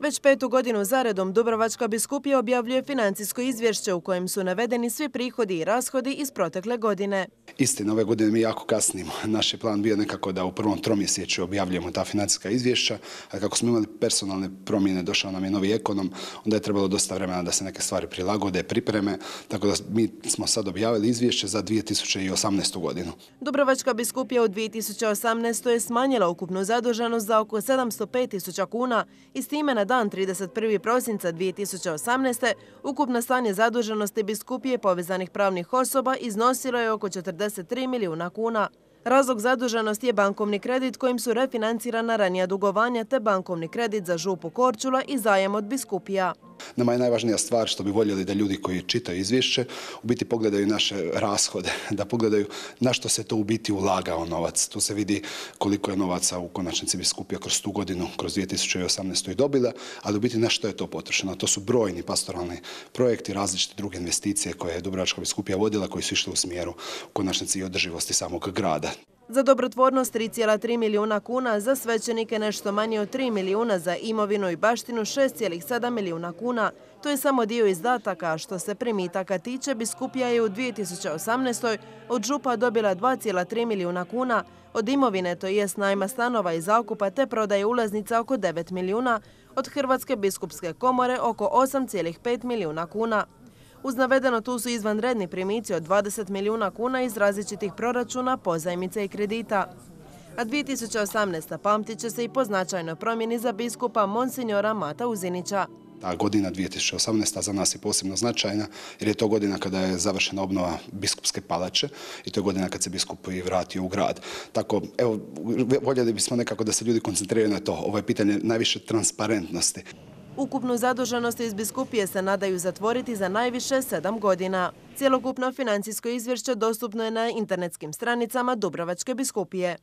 Već 5. godinu zaredom Dubrovačka biskupija objavljuje financijsko izvješće u kojem su navedeni svi prihodi i rashodi iz protekle godine. Istina, ove godine mi jako kasnimo. Naš je plan bio nekako da u prvom tromjesečju objavljujemo ta financijska izvješća, a kako smo imali personalne promjene, došao nam je novi ekonom, onda je trebalo dosta vremena da se neke stvari prilagode, pripreme, tako da mi smo sad objavili izvješće za 2018. godinu. Dubrovačka biskupija u 2018. je smanjila ukupnu zaduženost za oko 705.000 kuna i s time na dan 31. prosinca 2018. ukupno stanje zaduženosti biskupije povezanih pravnih osoba iznosilo je oko 43 milijuna kuna. Razlog zaduženosti je bankovni kredit kojim su refinancirana ranija dugovanja te bankovni kredit za župu Korčula i zajam od biskupija. Nama je najvažnija stvar što bi voljeli da ljudi koji čitaju izvješće u biti pogledaju naše rashode, da pogledaju na što se to u biti ulagao novac. Tu se vidi koliko je novaca u konačnici biskupija kroz tu godinu, kroz 2018. i dobila, ali u biti na što je to potrošeno. To su brojni pastoralni projekti, različite druge investicije koje je Dubrovačka biskupija vodila, koji su išli u smjeru u konačnici i održivosti samog grada. Za dobrotvornost 3,3 milijuna kuna, za svećenike nešto manje od 3 milijuna, za imovinu i baštinu 6,7 milijuna kuna. To je samo dio izdataka, što se primitaka tiče, biskupija je u 2018. od župa dobila 2,3 milijuna kuna, od imovine, to jest najma stanova i zakupa te prodaje ulaznica oko 9 milijuna, od Hrvatske biskupske komore oko 8,5 milijuna kuna. Uz navedeno tu su izvanredni primici od 20 milijuna kuna iz različitih proračuna, pozajmice i kredita. A 2018. pamtit će se i po značajnoj promjeni za biskupa Monsinjora Mata Uzinića. Ta godina 2018. za nas je posebno značajna jer je to godina kada je završena obnova biskupske palače i to je godina kad se biskup i vratio u grad. Tako, evo, voljeli bismo nekako da se ljudi koncentriraju na to. Ovo je pitanje najviše transparentnosti. Ukupnu zaduženost iz biskupije se nadaju zatvoriti za najviše 7 godina. Cjelokupno financijsko izvješće dostupno je na internetskim stranicama Dubrovačke biskupije.